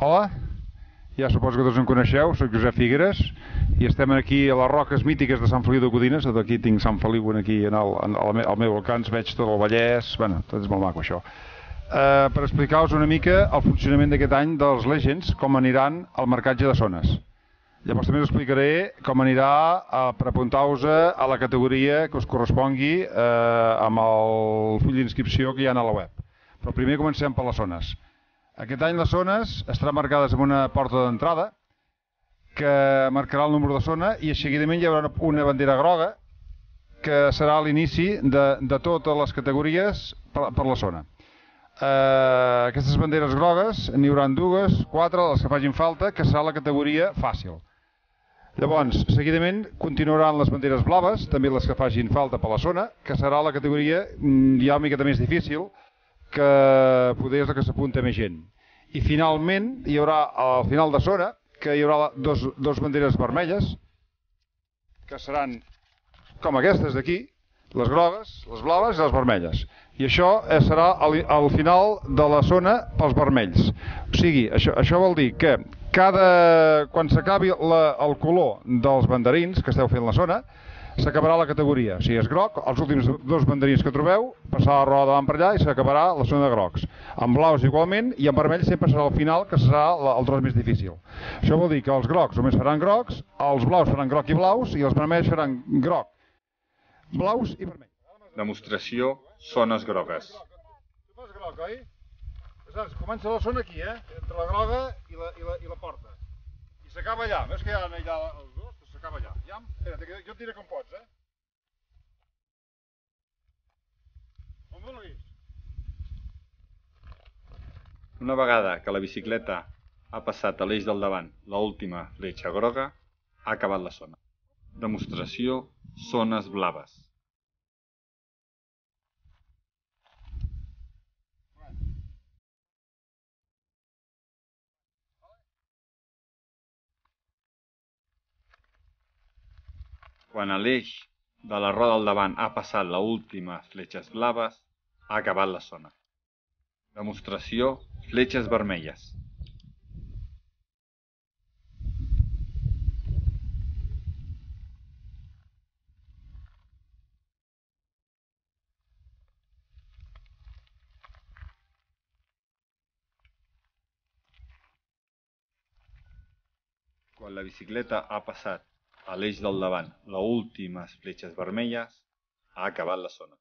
Hola, ja suposo que tots em coneixeu, soc Josep Figueres i estem aquí a les roques mítiques de Sant Feliu de Codines. Aquí tinc Sant Feliu aquí al meu alcance, veig tot el Vallès, bueno, tot és molt maco això. Per explicar-vos una mica el funcionament d'aquest any dels Legends, com aniran al marcatge de zones. Llavors també us explicaré com anirà per apuntar-vos a la categoria que us correspongui amb el full d'inscripció que hi ha a la web. Però primer comencem per les zones. Aquest any les zones estaran marcades amb una porta d'entrada que marcarà el número de zona i seguidament hi haurà una bandera groga que serà l'inici de totes les categories per la zona. Aquestes banderes grogues n'hi haurà dues, quatre, les que facin falta, que serà la categoria fàcil. Llavors, seguidament continuaran les banderes blaves, també les que facin falta per la zona, que serà la categoria ja una miqueta més difícil, que poder és la que s'apunta més gent. I finalment hi haurà al final de zona que hi haurà dos banderes vermelles que seran com aquestes d'aquí, les grogues, les blaves i les vermelles. I això serà al final de la zona pels vermells. O sigui, això vol dir que quan s'acabi el color dels banderins que esteu fent la zona, s'acabarà la categoria. O sigui, és groc, els últims dos banderins que trobeu, passarà la roda davant per allà i s'acabarà la zona de grocs. En blaus igualment, i en vermell sempre serà al final, que serà el tros més difícil. Això vol dir que els grocs només faran grocs, els blaus faran groc i blaus, i els vermells faran groc, blaus i vermell. Demostració zones grogues. Tu fas groc, oi? Aleshores, comença la zona aquí, entre la groga i la porta. I s'acaba allà. Veus que hi ha allà els dos? S'acaba allà. Espera't, que jo et diré com pots, On vulguis. Una vegada que la bicicleta ha passat a l'eix del davant l'última fletxa groga, ha acabat la zona. Demostració zones blaves. Quan a l'eix de la roda al davant ha passat l'última fletxes blaves, ha acabat la zona. Demostració fletxes vermelles. Quan la bicicleta ha passat a l'eix del davant les últimes fletxes vermelles, ha acabat la zona.